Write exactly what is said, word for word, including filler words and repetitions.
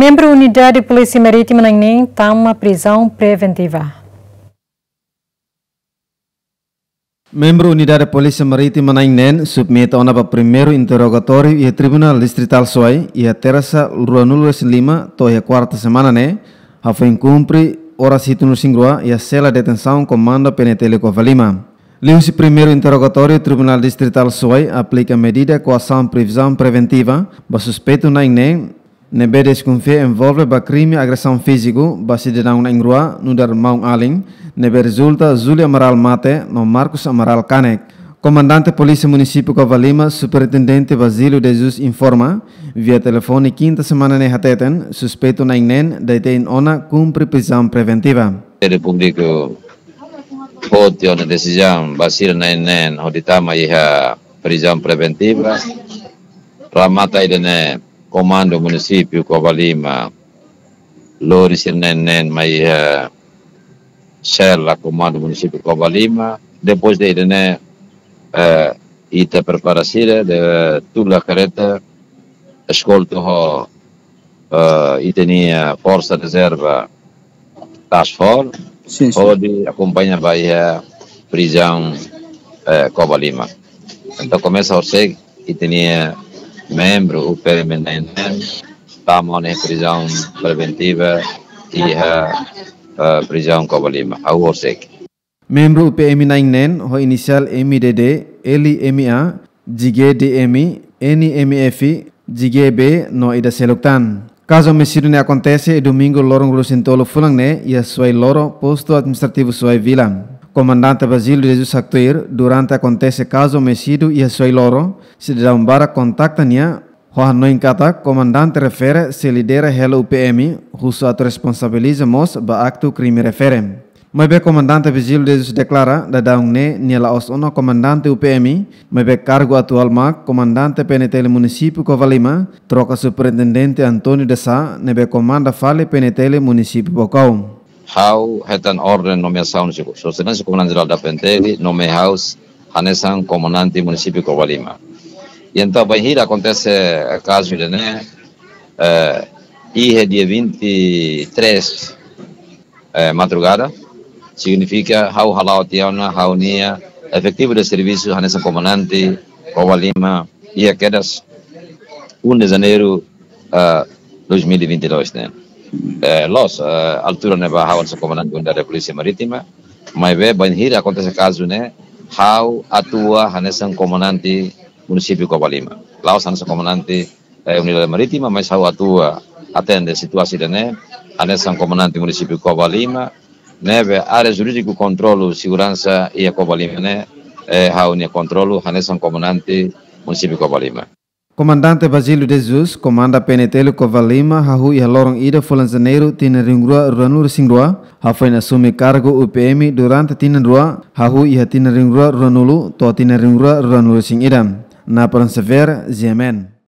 Membru Unidade Polísia Marítima na'in-neen tama prizaun preventiva. Membru Unidade Polísia Marítima na'in-neen submete ona ba primeiru interrogatóriu iha Tribunál Distritál Suai iha tersa ruanulu-resin-lima to'o iha kuarta semana ne'e, hafoin kumpre oras hitunulu-resin-rua iha sela detensaun Komandu P N T L Covalima. Liuhusi primeiru interrogatóriu, Tribunál Distritál Suai aplika medida koasaun prizaun preventiva ba suspeitu na'in-neen ne'ebé deskonfia envolve ba krime agresaun fíziku ba sidadaun na'in-rua nu'udar maun-alin, ne'ebé rezulta Júlio Amaral mate no Marcos Amaral kanek. Komandante Polísia Munisípiu Covalima, Superintendente Basílio de Jesus informa via telefone kinta semana ne'e hateten, suspeitu na'in-neen detein ona kumpre prizaun preventiva. Ministériu Públiku foti ona desizaun ba sira na'in-neen hodi tama iha prizaun preventiva. Remata ida-ne'e Komandu Munisípiu Covalima lori sira na'in-neen mai iha sela Komandu Munisípiu Covalima. Depois de ida-ne'e, eh, ita prepara sira de tula kareta eskolta ho, eh, ita-nia forsa rezerva Task Force, sin, sin, hodi akompaña ba iha prizaun, eh, Covalima. Entaun komesa horisehik ita-nia membru U P M na'in-neen tama ona iha prizaun preventiva iha, eh, prizaun Covalima. Hahú horisehik. Membru U P M na'in-neen ho inisiál M D D, L M A, G D M, N M F, G B no ida seluk tan. Kazu omisídiu ne'e akontese iha domingu loron ruanulu-resin-tolu fulan ne'e iha Suai Loro, Postu Administrativu Suai Vila. Komandante Basílio de Jesus haktuir, durante akontese kazu omisídiu iha Suai Loro, sidadaun barak kontakta nia, ho hanoin katak komandante refere sei lidera hela U P M husu atu responsabiliza mós ba aktu krime refere. Maibé komandante Basílio de Jesus deklara daudaun ne'e nia la'ós ona komandante U P M, maibé kargu atuál mak komandante P N T L Munisípiu Covalima, troka Superintendente António de Sá, ne'ebé komanda fali P N T L Munisípiu Baucau. Ha'u hetan orden nomeasaun husi Sua Exelénsia Komandante Jerál da P N T L, nomeia ha'u hanesan komandante Munisípiu Covalima. I entaun bainhira akontese kazu ida-ne'e, eh, iha dia vinte e três, eh, madrugada, signifika ha'u hala'o tiha ona ha'u-nia efetivu de servisu hanesan komandante Covalima iha kedas um de Janeiro, eh, dois mil e vinte e dois ne'e. Eh, loos, eh, altura ne'ebá ha'u hanesan komandante Unidade Polísia Marítima, maibé bainhira akontese kazu ne'e, ha'u atua hanesan komandante Munisípiu Covalima. La'ós hanesan komandante, eh, Unidade Marítima, mas ha'u atua atende situasaun ida-ne'e hanesan komandante Munisípiu Covalima, ne'ebé área jurídiku kontrolu seguransa iha Covalima ne'e, eh, ha'u-nia kontrolu hanesan komandante Munisípiu Covalima. Komandante Basílio de Jesus, komanda P N T L Covalima, hahú iha loron ida fulan Janeiru tinan rihun rua ruanulu-resin-rua, hafoin asume kargu U P M durante tinan rua, hahú iha tinan rihun rua ruanulu to'o tinan rihun rua ruanulu-resin-ida. Napoleon Xavier, G M N.